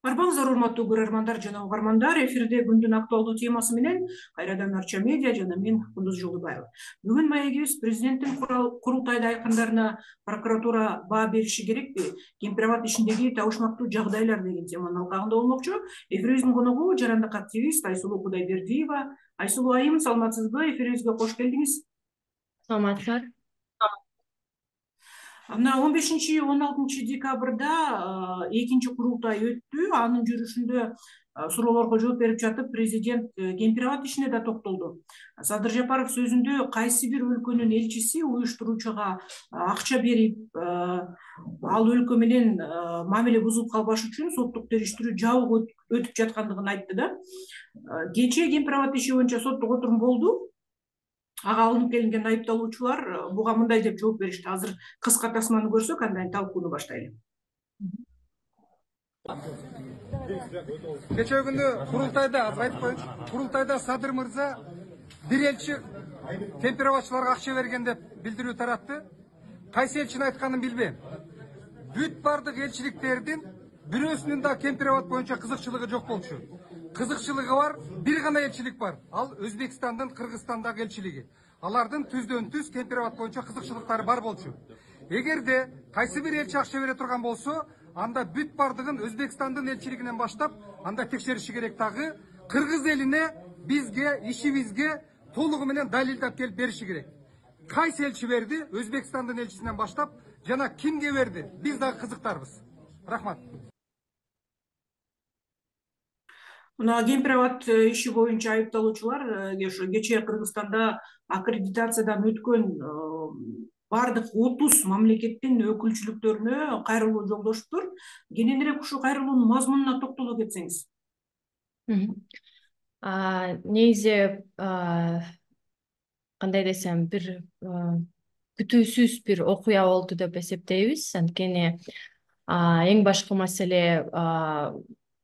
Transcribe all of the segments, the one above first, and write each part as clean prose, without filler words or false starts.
Арбаңыздар урматтуу көрөрмандар жана угармандар, эфирде күндүн актуалдуу темасы менен кайрадан Арча медиа жана мен Кундуз Жолдубаева. Бүгүн маегибиз президенттин курултайда айткандарына прокуратура баа бериши керекпи? Кемпир-абад ишиндеги табышмактуу жагдайлар деген теманын алкагында болмокчу. Эфирибиздин коногу жарандык активист Айсулуу Кудайбердиева. Айсулуу айым, саламатсызбы? Эфирибизге кош келдиңиз. Саламатсыздар. Мына 15-16 декабрда экинчи курултай өттү. Анын жүрүшүндө суроолорго жооп берип жатып, президент Кемпир-абад ишине да токтолду. Садыр Жапаров сөзүндө кайсы бир өлкөнүн элчиси уюштуруучуга акча берип, ал өлкө менен мамиле бузулуп калбаш үчүн соттук териштирүү жабык өтүп жаткандыгын айтты да. Кечээ Кемпир-абад иши боюнча соттук отурум болду. Ага алынып келинген айыпталуучулар буга мындай деп жооп беришти. Азыр кыска тасманы көрсөк, андан талкууну баштайлы. Кечээ күнү курултайда Садыр мырза бир элчи Кемпир-абадчыларга акча берген деп билдирүү таратты. Кайсы элчинин айтканын билбейм. Бүт бардык элчиликтердин бирөөсүнүн да Кемпир-абад боюнча кызыкчылыгы жок болчу. Кызыкчылыгы бар бир гана элчилик бар. Ал Өзбекстандын, Кыргызстандагы элчилиги. Алардын түздөн түз Кемпир-абад боюнча кызыкчылыктары бар болчу. Эгерде кайсы бир элчи акча бере турган болсо, анда бүт бардыгын Өзбекстандын элчилигинен баштап, анда текшериши керек. Дагы Кыргыз элине, бизге, ишибизге толугу менен далилдап келип бериши керек. Кайсы элчи берди? Өзбекстандын элчисинен баштап, жана кимге берди? Биз дагы кызыктарбыз. Рахмат. Мына Кемпир-абад иши боюнча айыпталуучулар кечээ Кыргызстанда аккредитациядан өткөн бардык 30 мамлекеттин өкүлчүлүктөрүнө кайрылуу жолдошуптур. Кененирээк ушул кайрылуунун мазмунуна токтоло кетсеңиз. Негизи кандай десем, бир күтүүсүз бир окуя болду деп эсептейбиз. Анткени эң башкы маселе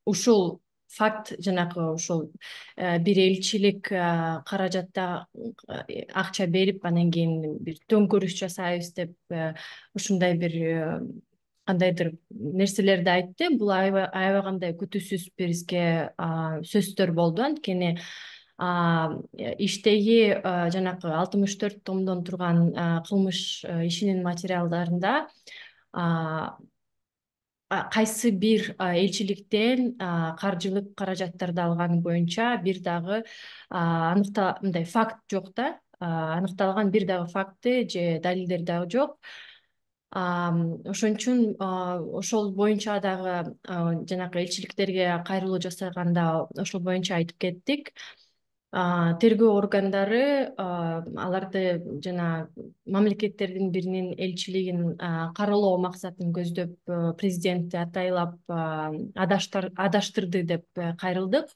ушул факт, жанагы ушул бир элчилик каражатта акча берип, анан кийин бир төңкөрүш жасайбыз деп ушундай бир кандайдыр нерселерди айтты. Бул аябагандай күтүүсүз бизге сөздөр болду. Анткени иштеги жанагы 64 томдон турган кылмыш ишинин материалдарында кайсы бир элчиликтен каржылык каражаттарды алганы боюнча бир дагы мындай факт жок да. Аныкталган бир дагы факты же далилдер дагы жок. Ошон үчүн ошол боюнча дагы жанагы элчиликтерге кайрылуу жасаганда ошол боюнча айтып кеттик. Тергөө органдары аларды жана мамлекеттердин биринин элчилигин каралоо максатын көздөп президентти атайлап адаштырды деп кайрылдык.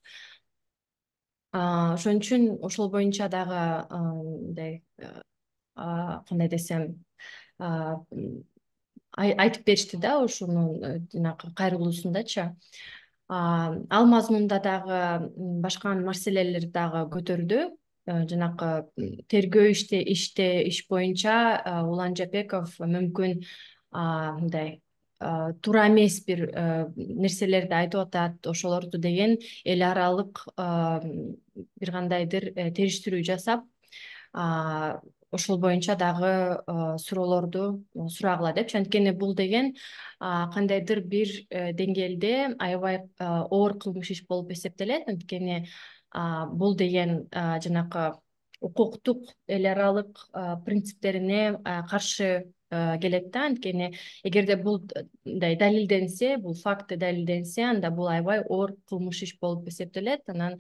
Ошон үчүн ошол боюнча дагы мындай кандай десем айтып беришти да, ошонун жанагы кайрылуусундачы. Ал мазмунда дагы башка маселелер дагы көтөрдү. Жанагы тергөө иш боюнча Улан Жапеков мүмкүн мындай туура эмес бир нерселерди айтып атат, ошолорду деген эл аралык бир кандайдыр териштирүү жасап, ошол боюнча дагы суроолорду сурагыла депчи. Анткени бул деген кандайдыр бир деңгээлде аябай оор кылмыш иш болуп эсептелет. Анткени бул деген жанагы укуктук эл аралык принциптерине каршы келет да. Анткени эгерде бул мындай далилденсе, бул факты далилденсе, анда бул аябай оор кылмыш иш болуп эсептелет. Анан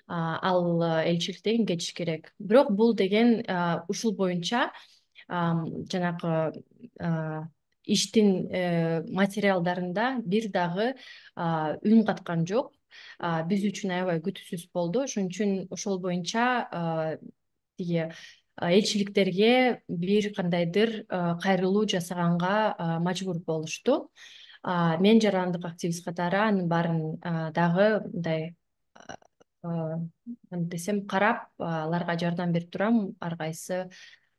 ал элчиликтен кетиш керек. Бирок бул деген ушул боюнча жанагы иштин материалдарында бир дагы үн каткан жок. Биз үчүн аябай күтүүсүз болду. Ошон үчүн ошол боюнча тиги элчиликтерге бир кандайдыр кайрылуу жасаганга мажбур болушту. Мен жарандык активист катары анын баарын дагы мындай десем карап, аларга жардам берип турам ар кайсы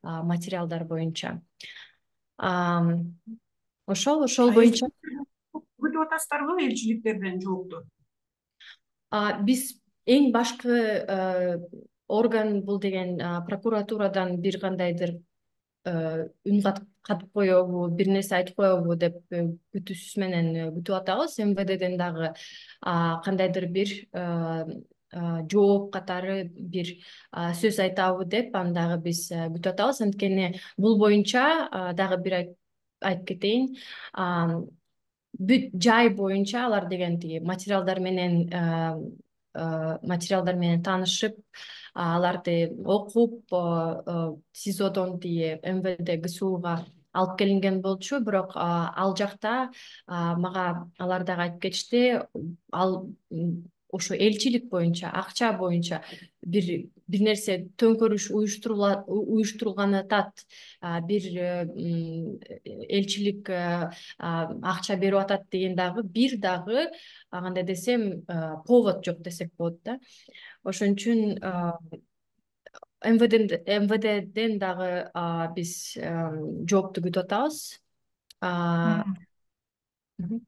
материалдар боюнча. Ошол боюнча күтүп атасыздарбы элчиликтерден жоопту? Биз эң башкы орган бул деген прокуратурадан бир кандайдыр үн катып коебу, бир нерсе айтып коебу деп күтүүсүз менен күтүп атабыз. МВДден дагы кандайдыр бир жооп катары бир сөз айтабы деп аны дагы биз күтүп атабыз. Анткени бул боюнча дагы бир айтып кетейин. Бүт жай боюнча алар деген тиги материалдар менен таанышып, аларды окуп, СИЗОдон тиги МВД ГСУга алып келинген болчу, бирок ал жакта мага алар дагы айтып кетишти, ал ошо элчилик боюнча, акча боюнча бир нерсе төңкөрүш уюштурулган атат, бир элчилик акча берип атат деген дагы кандай десем повод жок десек болот да. Ошон үчүн МВДден дагы биз жоопту күтүп атабыз.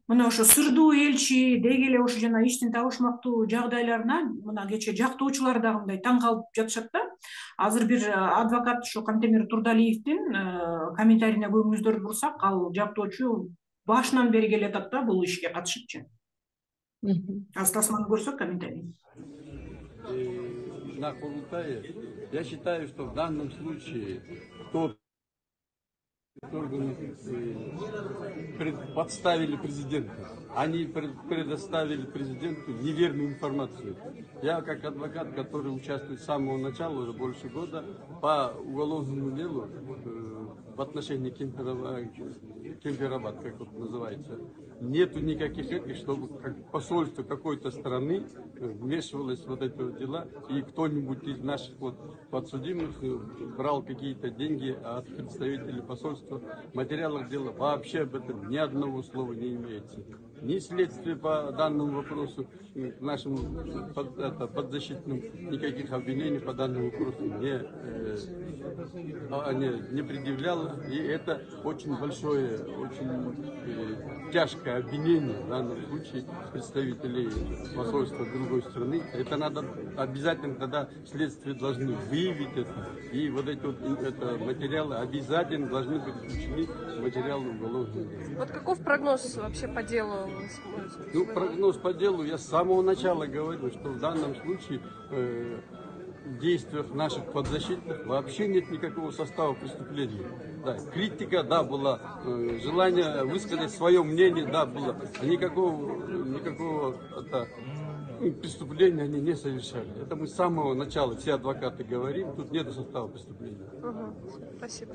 Мына ошо сырдуу элчи деги эле ошо жана иштин табышмактуу жагдайларына мына кечээ жактоочулар дагы мындай таң калып жатышат да. Азыр бир адвокат ушу Кантемир Турдалиевдин комментарийине көзүңүздөрдү бурсак, ал жактоочу башынан бери келатат да бул ишке катышыпчы. Азыр тасманы көрсөк комментарий. На Курултае, я считаю, что в данном случае тот органы подставили президента. Они предоставили президенту неверную информацию. Я как адвокат, который участвует с самого начала, уже больше года, по уголовному делу в отношении Кемпирабад, как это называется, нету никаких этих, чтобы посольство какой-то страны вмешивалось в вот эти вот дела, и кто-нибудь из наших вот подсудимых брал какие-то деньги от представителей посольства. В материалах дела вообще об этом ни одного слова не имеется. Ни следствие по данному вопросу, к нашему подзащитным, никаких обвинений по данному вопросу не предъявляло. И это очень большое, очень тяжкое обвинение в данном случае представителей посольства другой страны. Это надо обязательно, тогда следствие должны выявить это. И вот эти вот материалы обязательно должны быть включены в материалы уголовного дела. Вот каков прогноз вообще по делу? Ну, прогноз по делу, я с самого начала говорю, что в данном случае в действиях наших подзащитных вообще нет никакого состава преступления. Да, критика, да, была, желание высказать свое мнение, да, было. Никакого преступления они не совершали. Это мы с самого начала, все адвокаты говорим, тут нет состава преступления. Спасибо.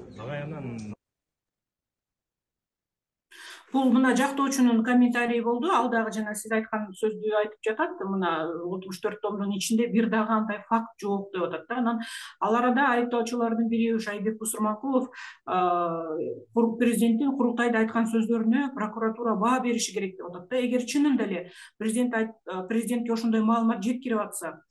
Бул мына жактоочунун комментарийи болду. Ал дагы жана сиз айткан сөздү айтып жатат. Мына 64 томдун ичинде бир дагы андай факт жок деп атат да. Анан ал арада айыптоочулардын бири ушу Айбек Бусурманкулов президенттин курултайда айткан сөздөрүнө прокуратура баа бериши керек деп атат да. Эгер чынында эле президентке ошондой маалымат жеткирип атса,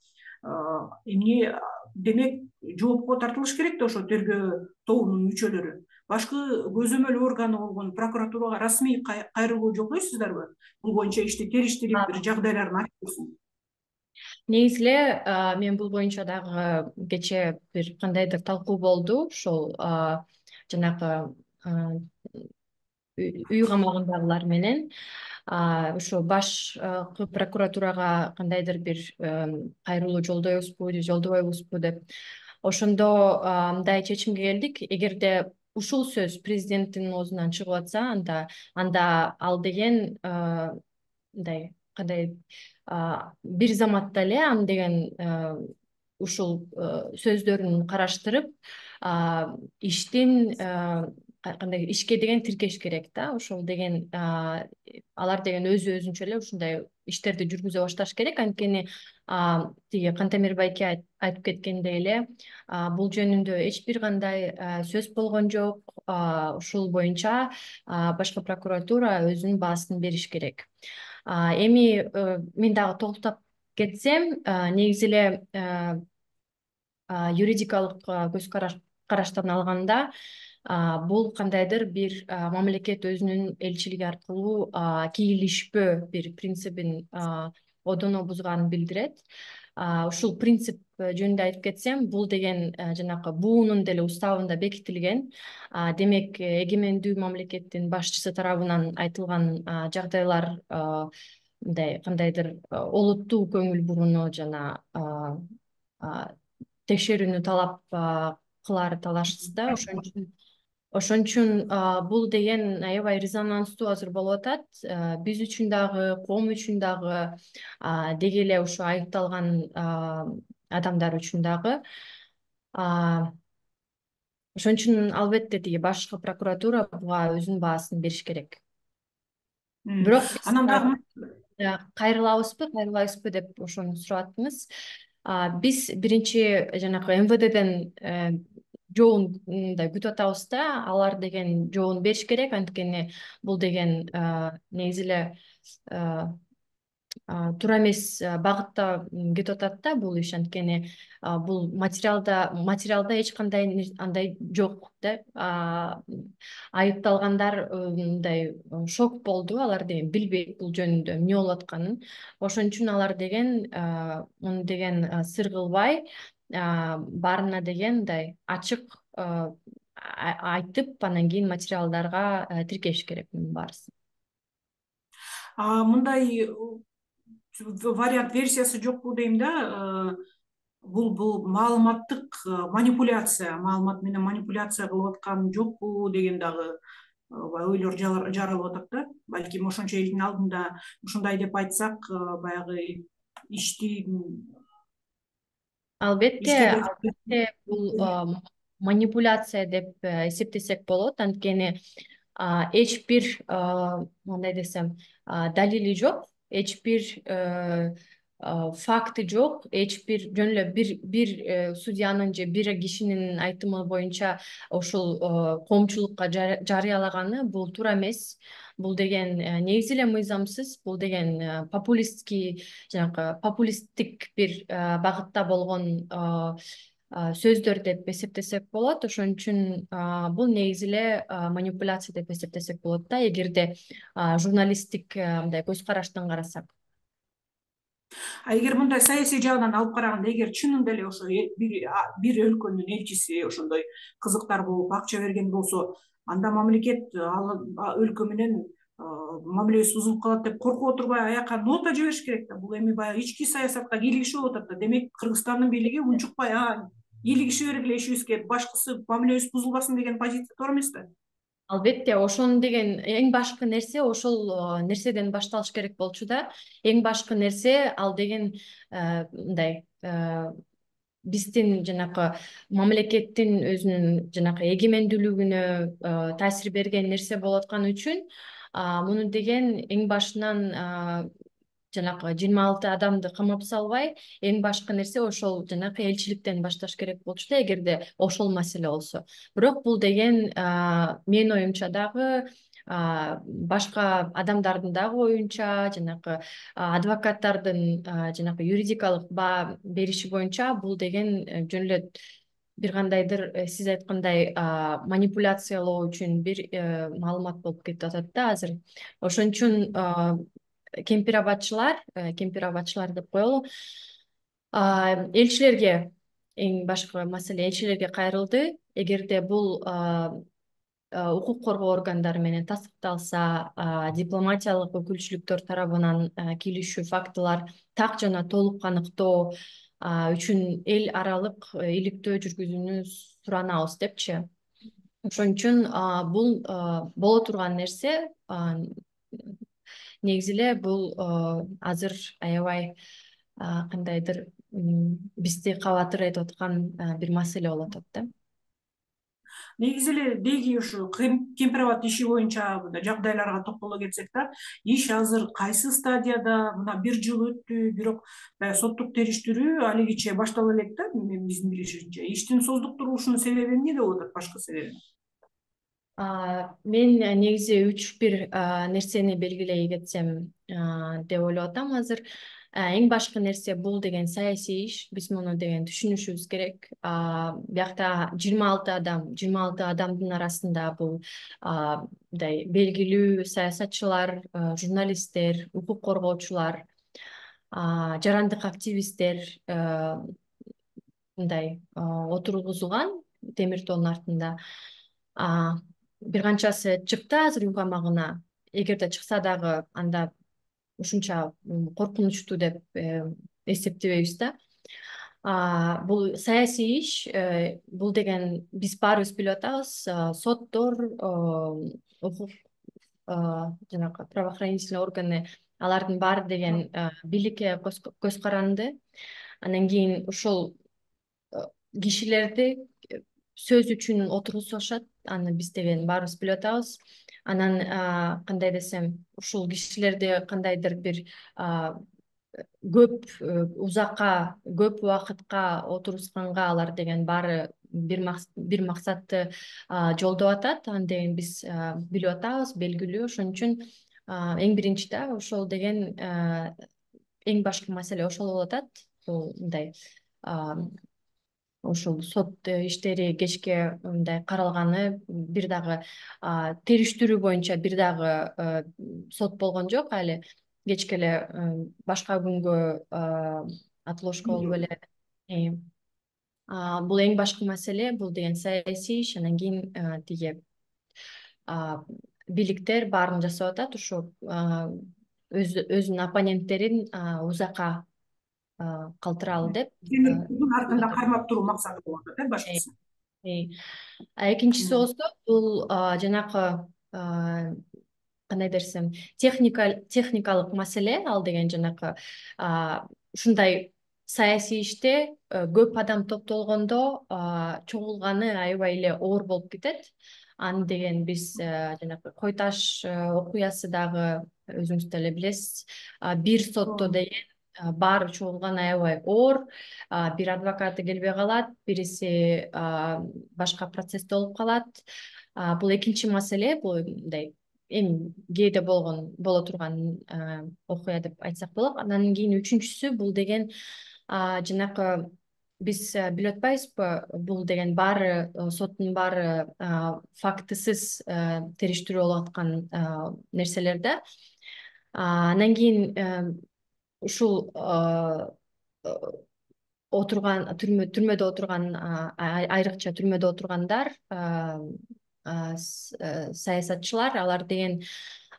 эмне демек жоопко тартылыш керек да ошо тергөө тобунун мүчөлөрү. Башкы көзөмөл органы болгон прокуратурага расмий кайрылуу жолдойсуздарбы? Бул боюнча ишти териштирип бир жагдайларын айтып берсин. Негизи эле мен бул боюнча дагы кечээ бир кандайдыр талкуу болду. Ошол жанагы үй камагындагылар менен ошо башкы прокуратурага кандайдыр бир кайрылуу жолдобойбузбу деп. Ошондо мындай чечимге келдик. Эгерде ушул сөз президенттин оозунан чыгып атса, анда ал деген мындай кандай бир заматта эле аны деген ушул сөздөрүн караштырып иштин кандай ишке деген тиркеш керек да. Ошол деген алар деген өзүнчө эле ушундай иштерди жүргүзө башташ керек. Анткени тиги Кантемир байке айтып кеткендей эле бул жөнүндө эч бир кандай сөз болгон жок. Ушул боюнча башкы прокуратура өзүнүн баасын бериш керек. Эми мен дагы толуктап кетсем, негизи эле юридикалык көз караштан алганда бул кандайдыр бир мамлекет өзүнүн элчилиги аркылуу кийлишпөө бир принцибин одоно бузганын билдирет. Ушул принцип жөнүндө айтып кетсем, бул деген жанакы буунун деле уставында бекитилген. Демек, эгемендүү мамлекеттин башчысы тарабынан айтылган жагдайлар мындай кандайдыр олуттуу көңүл бурууну жана текшерүүнү талап кылаары талашсыз да. Ошон үчүн бул деген аябай резонанстуу азыр болуп атат. Биз үчүн дагы, коом үчүн дагы, деги эле ушу айыпталган адамдар үчүн дагы. Ошон үчүн албетте тиги башкы прокуратура буга өзүнүн баасын бериш керек. Бирок Анан дагы кайрылабызбы деп ошону сурап аттыңыз. Биз биринчи жанакы МВДден жообун күтүп атабыз да, алар деген жообун бериш керек, анткени бул деген негизи эле туура эмес багытта кетип атат да бул иш, анткени бул материалда эч кандай андай жок да. Айыпталгандар мындай шок болду, алар деген билбейт бул жөнүндө эмне болуп атканын. Ошон үчүн алар деген муну деген сыр кылбай, баарына деген мындай ачык айтып, анан кийин материалдарга тиркеш керек мунун баарысын. мындай вариант версиясы жокпу дейм да. Бул маалыматтык манипуляция, маалымат менен манипуляция кылып аткан жокпу деген дагы ойлор жаралып атат да. Балким ошончо элдин алдында ушундай деп айтсак, баягы ишти Албетте бул манипуляция деп эсептесек болот, анткени эч бир мындай десем далили жок, эч бир факты жок, эч бир жөн эле бир судьянын же бир кишинин айтымы боюнча ушул коомчулукка жарыялаганы бул туура эмес. Бул деген негизи эле мыйзамсыз, бул деген популисттик бир багытта болгон сөздөр деп эсептесек болот. Ошон үчүн бул негизи эле манипуляция деп эсептесек болот да, эгерде журналисттик мындай көз караштан карасак. Эгер мындай саясий жагынан алып караганда, эгер чынында эле ошо бир өлкөнүн элчиси ошондой кызыктар болуп акча берген болсо, анда мамлекет өлкө менен мамилебиз бузулуп калат деп коркуп отурбай аяка нота жибериш керек да. Бул эми баягы ички саясатка кийлигишип атат да. Демек, Кыргызстандын бийлиги унчукпай кийлигише бергиле ишибизге, башкысы мамилебиз бузулбасын деген позиция туура эмес да. Албетте, ошону деген эң башкы нерсе ошол нерседен башталыш керек болчу да. Эң башкы нерсе ал деген мындай биздин жанакы мамлекеттин өзүнүн жанакы эгемендүүлүгүнө таасир берген нерсе болуп аткан үчүн муну деген эң башынан жанакы 26 адамды камап салбай, эң башкы нерсе ошол жанакы элчиликтен башташ керек болчу да, эгерде ошол маселе болсо. Бирок бул деген менин оюмча дагы, башка адамдардын дагы оюнча, жанакы адвокаттардын жанакы юридикалык баа бериши боюнча бул деген жөн эле бир кандайдыр сиз айткандай манипуляциялоо үчүн бир маалымат болуп кетип атат да азыр. Ошон үчүн кемпир-абадчылар деп коелу. Элчилерге эң башкы маселе элчилерге кайрылды. Эгерде бул укук коргоо органдары менен тастыкталса, дипломатиялык өкүлчүлүктөр тарабынан кийлишүү фактылар так жана толук аныктоо үчүн эл аралык иликтөө жүргүзүүнү суранабыз депчи. Ошон үчүн бул боло турган нерсе. Негизи эле бул азыр аябай кандайдыр бизди кабатыр этип аткан бир маселе болуп атат да. Негизи эле деги ушу кемпир-абад иши боюнча жагдайларга токтоло кетсек да, иш азыр кайсы стадияда? Мына 1 жыл өттү, бирок соттук териштирүү алигиче баштала элек да, биздин билишимизче. Иштин создук туруушунун себеби эмнеде болуп атат, башкы себеби? Мен негизи 3-1 нерсени белгилей кетсем деп ойлоп атам азыр. Эң башкы нерсе бул деген саясий иш. Биз муну деген түшүнүшүбүз керек. Биякта 26 адамдын арасында бул мындай белгилүү саясатчылар, журналисттер, укук коргоочулар, жарандык активисттер мындай отургузулган темир тоонун артында. Бир канчасы чыкты азыр үй камагына. Эгерде чыкса дагы анда ушунча коркунучтуу деп эсептебейбиз да. Бул саясий иш, бул деген биз баарыбыз билип атабыз, соттор, укук жанагы правоохранительный органы, алардын баары деген бийликке көз каранды. Анан кийин ушул кишилерди сөз үчүн отургузушат. Аны биз деген баарыбыз билип атабыз. Анан кандай десем, ушул кишилерди кандайдыр бир көп көп убакытка отургузганга алар деген баары бир максатты жолдоп атат. Аны деген биз билип атабыз, белгилүү. Ошон үчүн эң биринчи да ошол деген эң башкы маселе ошол болуп атат. Бул мындай ушул сот иштери кечке мындай каралганы, бир дагы териштирүү боюнча бир дагы сот болгон жок али. Кечке эле башка күнгө отложка болуп эле. Бул эң башкы маселе, бул деген саясий иш. Анан кийин тиги бийликтер баарын жасап атат, ушу өзүнүн оппоненттерин узакка калтыралы деп. Артында кармап туруу максаты болуп атат, башкысы. Экинчиси болсо бул жанакы кандай десем, техникалык маселе. Ал деген жанакы ушундай саясий иште көп адам топтолгондо чогулганы аябай эле оор болуп кетет. Аны деген биз жанакы Кой Таш окуясы дагы өзүңүз деле билесиз. Бир сотто деген баары чогулган аябай оор. Бир адвокаты келбей калат, бириси башка процессте болуп калат. Бул экинчи маселе, бул мындай эми кээде боло турган окуя деп айтсак болот. Анан кийин үчүнчүсү бул деген жанакы биз билип атпайбызбы, бул деген баары соттун баары фактысыз териштирүү болуп аткан нерселер да. Анан кийин ушул түрмөдө отурган айрыкча түрмөдө отургандар, саясатчылар, алар деген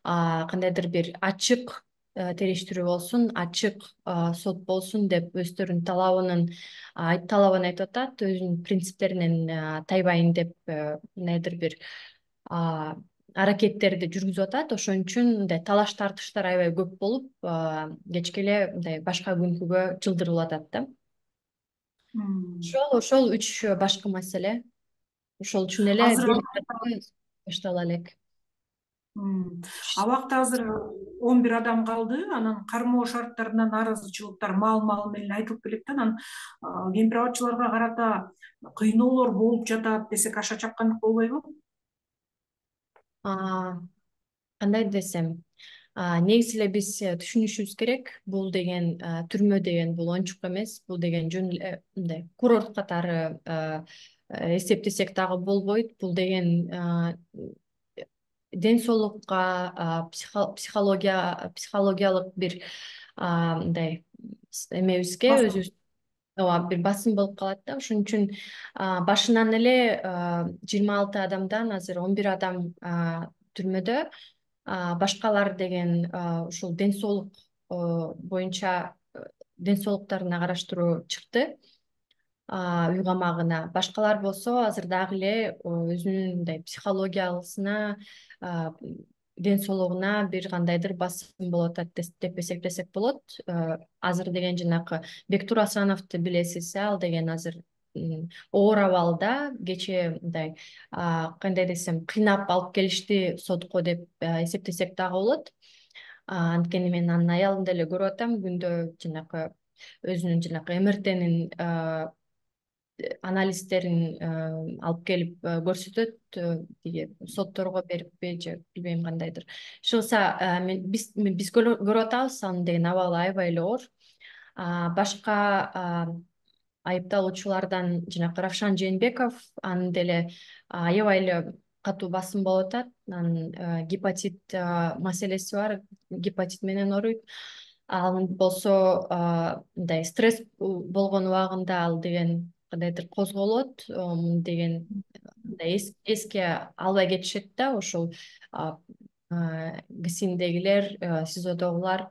кандайдыр бир ачык териштирүү болсун, ачык сот болсун деп өздөрүнүн талабын айтып атат, өзүнүн принциптеринен тайбайын деп кандайдыр бир аракеттерди жүргүзүп атат. Ошон үчүн мындай талаш тартыштар аябай көп болуп, кечке эле мындай башка күнгүгө жылдырылып атат да. Ошол 3 башкы маселе. Ошол үчүн эле баштала элек. Абакта азыр 11 адам калды. Анан кармоо шарттарына нааразычылыктар маал менен айтылып келет да. Анан кемпир-абадчыларга карата кыйноолор болуп жатат десек аша чапкандык болбойбу? Кандай десем, негизи эле биз түшүнүшүбүз керек. Бул деген түрмө деген бул оңчук эмес. Бул деген жөн эле мындай курорт катары эсептесек дагы болбойт. Бул деген ден соолукка, психологиялык бир мындай эмебизге өзүбүз бир басым болуп калат да. Ошон үчүн башынан эле 26 адамдан азыр 11 адам түрмөдө. Башкалар деген ушул ден соолук боюнча ден соолуктарына караштыруу чыкты үй камагына. Башкалар болсо азыр дагы эле өзүнүн мындай психологиясына, ден соолугуна бир кандайдыр басым болуп атат деп эсептесек болот. Азыр деген жанакы Бектур Асановду билесиз, ал деген азыр оор абалда. Кечээ мындай кандай десем, кыйнап алып келишти сотко деп эсептесек дагы болот. Анткени мен анын аялын деле көрүп атам, күндө жанакы өзүнүн жанакы МРТнин анализдерин алып келип көрсөтөт, тиги сотторго бериппи же билбейм кандайдыр. Иши кылса биз көрүп атабыз, анын деген абалы аябай эле оор. Башка айыпталуучулардан жанакы Равшан Жээнбеков, анын деле аябай эле катуу басым болуп атат. Анын гепатит маселеси бар, гепатит менен ооруйт. Ал болсо мындай стресс болгон убагында ал деген кандайдыр козголот, деген эске албай кетишет да, ошол ГСИНдегилер, СИЗОдогулар.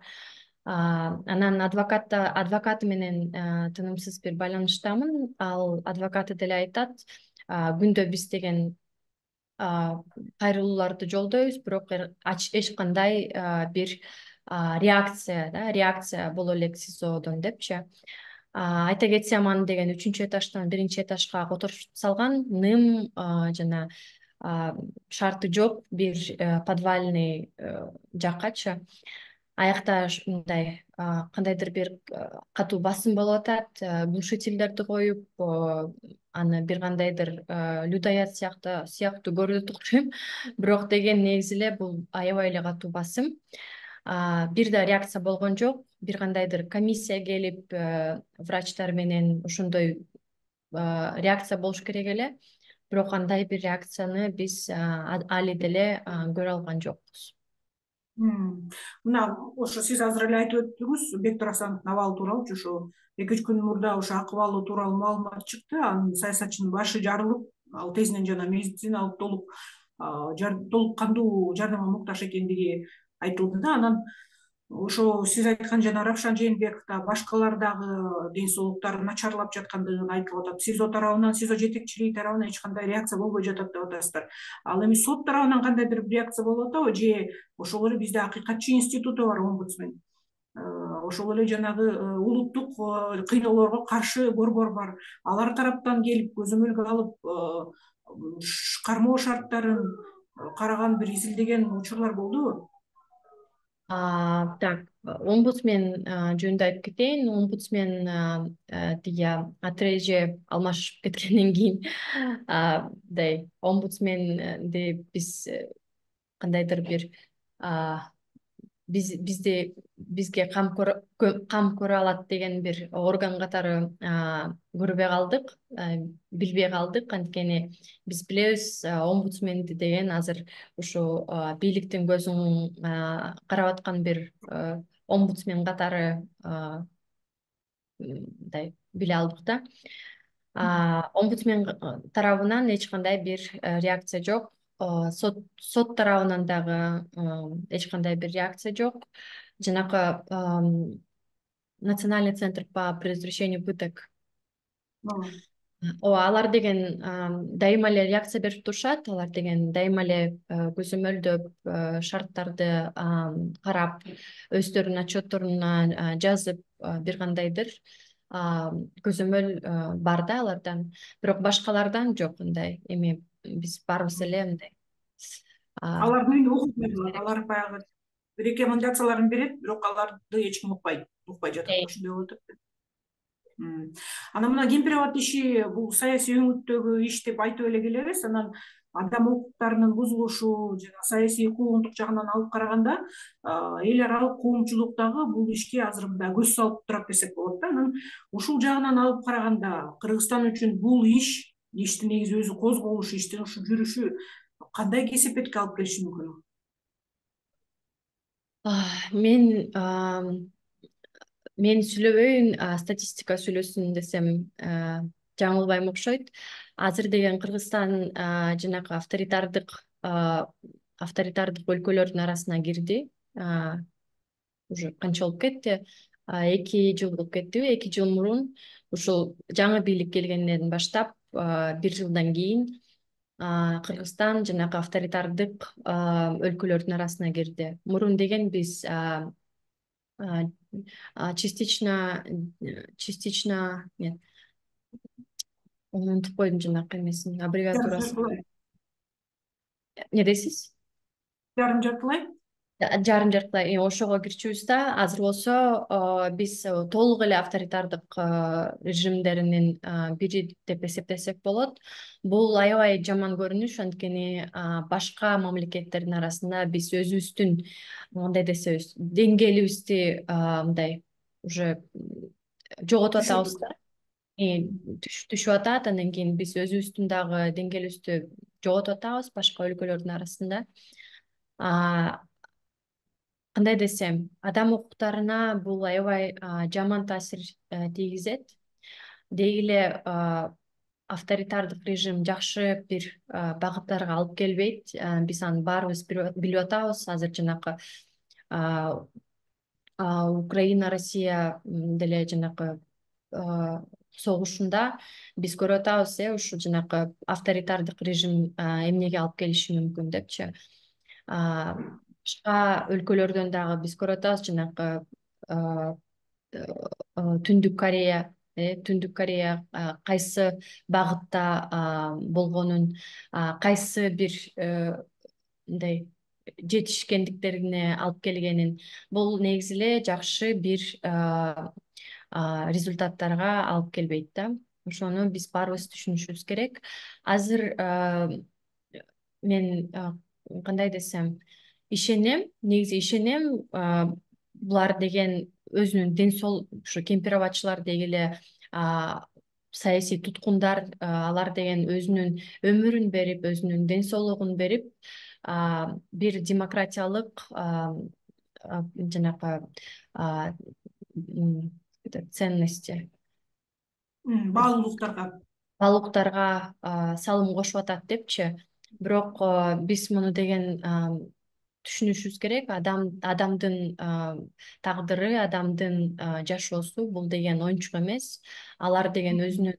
Анан адвокаты менен тынымсыз бир байланыштамын. Ал адвокаты деле айтат, күндө биз деген кайрылууларды жолдойбуз, бирок эч кандай бир реакция боло элек СИЗОдон депчи. Айта кетсем, аны деген 3-этаждан 1-этажга которуп салган, ным жана шарты жок бир подвальный жаккачы. Аякта мындай кандайдыр бир катуу басым болуп атат, глушительдерди коюп, аны бир кандайдыр людоят сыяктуу көрүнөт окшойм. Бирок деген негизи эле бул аябай эле катуу басым. Бир да реакция болгон жок. Бир кандайдыр комиссия келип, врачтар менен ошондой реакция болуш керек эле. Бирок андай бир реакцияны биз али деле көрө алган жокпуз. Мына ошо сиз азыр эле айтып өттүңүз Бектур Асановдун абалы тууралуу. Ошо 2-3 күн мурда ошо акыбалы тууралуу маалымат чыкты. Анын саясатчынын башы жарылып, ал тезинен жана медициналык толук кандуу жардамга муктаж экендиги айтылды да. Анан ошо сиз айткан жана Равшан Жээнбеков да башкалар дагы ден соолуктары начарлап жаткандыгын айтылып атат. СИЗО тарабынан, СИЗО жетекчилиги тарабынан эч кандай реакция болбой жатат деп атасыздар. Ал эми сот тарабынан кандайдыр бир реакция болуп атабы, же ошол эле бизде акыйкатчы институту бар, омбудсмен, ошол эле жанагы улуттук кыйноолорго каршы борбор бар, алар тараптан келип көзөмөлгө алып кармоо шарттарын караган бир изилдеген учурлар болдубу? Так, омбудсмен жөнүндө айтып кетейин. Омбудсмен тиги отреже алмашып кеткенден кийин мындай омбудсменди биз кандайдыр бир бизге кам көрө алат деген бир орган катары көрбөй калдык, билбей калдык. Анткени биз билебиз, омбудсменди деген азыр ушу бийликтин көзүн карап аткан бир омбудсмен катары мындай биле алдык да. Омбудсмен тарабынан эч кандай бир реакция жок. Сот тарабынан дагы эч кандай бир реакция жок. Жанакы Национальный центр по предотвращению пыток, алар деген дайыма эле реакция берип турушат. Алар деген дайыма эле көзөмөлдөп, шарттарды карап, өздөрүнүн отчетторуна жазып, бир кандайдыр көзөмөл бар да алардан. Бирок башкалардан жок андай. Эми биз баарыбыз эле мындай. Алардын үйүнө окуйт, алар баягы рекомендацияларын берет, бирок аларды эч ким укпай жатат. Ошондой болуп атат. Анан мына Кемпирабад иши бул саясий өңүттөгү иш деп айтып эле келебиз. Анан адам укуктарынын бузулушу жана саясий куугунтук жагынан алып караганда, эл аралык коомчулук дагы бул ишке азыр мындай көз салып турат десек болот да. Анан ушул жагынан алып караганда Кыргызстан үчүн бул иштин негизи өзү козголушу, иштин ушу жүрүшү кандай кесепетке алып келиши мүмкүн? Мен сүйлөбөйүн, статистика сүйлөсүн десем жаңылбайм окшойт. Азыр деген Кыргызстан жанагы авторитардык өлкөлөрдүн арасына кирди. Уже канча болуп кетти? 2 жыл болуп кеттиби? 2 жыл мурун ушул жаңы бийлик келгенден баштап 1 жылдан кийин Кыргызстан жанагы авторитардык өлкөлөрдүн арасына кирди. Мурун деген биз частично нет, унутуп койдум жанакы эмесин, аббревиатурасын. Не дейсиз? Жарым жартылай? жарым жартылай ошого кирчүбүз да. Азыр болсо биз толук эле авторитардык режимдеринин бири деп эсептесек болот. Бул аябай жаман көрүнүш, анткени башка мамлекеттердин арасында биз өзүбүздүн кандай десебиз деңгээлибизди мындай уже жоготуп атабыз да. Түшүп атат, андан кийин биз өзүбүздүн дагы деңгээлибизди жоготуп атабыз башка өлкөлөрдүн арасында. Кандай десем, адам укуктарына бул аябай жаман таасир тийгизет. Деги эле авторитардык режим жакшы бир багыттарга алып келбейт. Биз аны баарыбыз билип атабыз. Азыр жанакы Украина Россия деле жанакы согушунда биз көрүп атабыз, ушу жанакы авторитардык режим эмнеге алып келиши мүмкүн депчи. Башка өлкөлөрдөн дагы биз көрүп атабыз, жанакы Түндүк Корея кайсы багытта болгонун, кайсы бир мындай жетишкендиктерине алып келгенин, бул негизи эле жакшы бир результаттарга алып келбейт да. Ошону биз баарыбыз түшүнүшүбүз керек. Азыр мен кандай десем, негизи ишенем, булар деген өзүнүн ушу кемпирабадчылар деги эле саясий туткундар, алар деген өзүнүн өмүрүн берип, өзүнүн ден соолугун берип, бир демократиялык жанакы ценности, баалуулуктарга салым кошуп атат депчи. Бирок биз муну деген түшүнүшүбүз керек. Адамдын тагдыры, адамдын жашоосу бул деген оюнчук эмес. Алар деген өзүнүн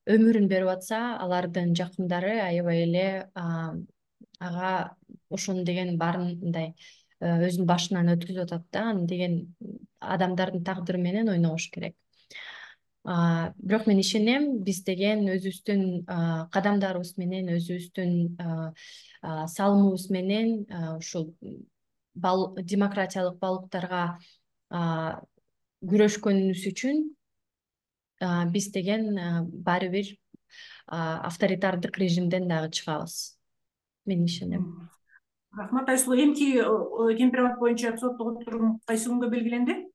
өмүрүн берип атса, алардын жакындары аябай эле ага ошону деген баарын мындай өзүнүн башынан өткүзүп атат да. Аны деген адамдардын тагдыры менен ойнобош керек. Бирок мен ишенем, биз деген өзүбүздүн кадамдарыбыз менен, өзүбүздүн салымыбыз менен ушул демократиялык баалуулуктарга күрөшкөнүбүз үчүн биз деген баары бир авторитардык режимден дагы чыгабыз. Мен ишенем. Рахмат Айсулуу. Эмки кемпирабад боюнча соттук отурум кайсы күнгө белгиленди?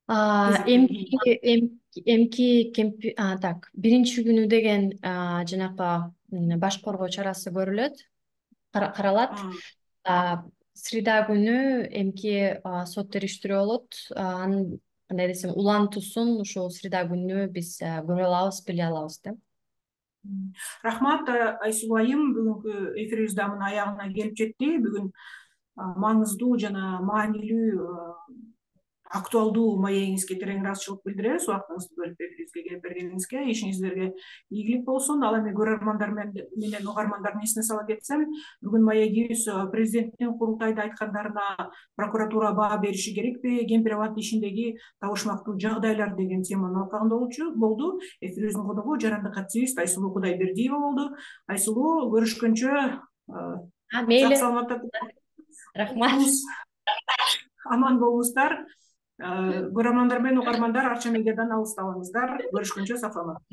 Так, биринчи күнү деген жанакы баш коргоо чарасы көрүлөт, каралат. Среда күнү эмки сот териштирүү болот. Анын кандай десем, улантуусун ушул среда күнү биз көрө алабыз, биле алабыз да. Рахмат Айсулуу айым, бүгүнкү эфирибиз да мына аягына келип жетти. Бүгүн маңыздуу жана маанилүү, актуалдуу маегиңизге терең ыраазычылык билдиребиз. Убактыңызды бөлүп эфирибизге келип бергениңизге. Ишиңиздерге ийгилик болсун. Ал эми көрөрмандар менен угармандардын эсине сала кетсем, бүгүн маегибиз президенттин курултайда айткандарына прокуратура баа бериши керекпи, кемпирабад ишиндеги табышмактуу жагдайлар деген теманын алкагында болду. Эфирибиздин коногу жарандык активист Айсулуу Кудайбердиева болду. Айсулуу, көрүшкөнчө. Мейли. Саламатта. Рахмат. Аман болуңуздар. Көрөрмандар менен угармандар Арча медиадан алыстабаңыздар. Көрүшкөнчө, сак саламатта.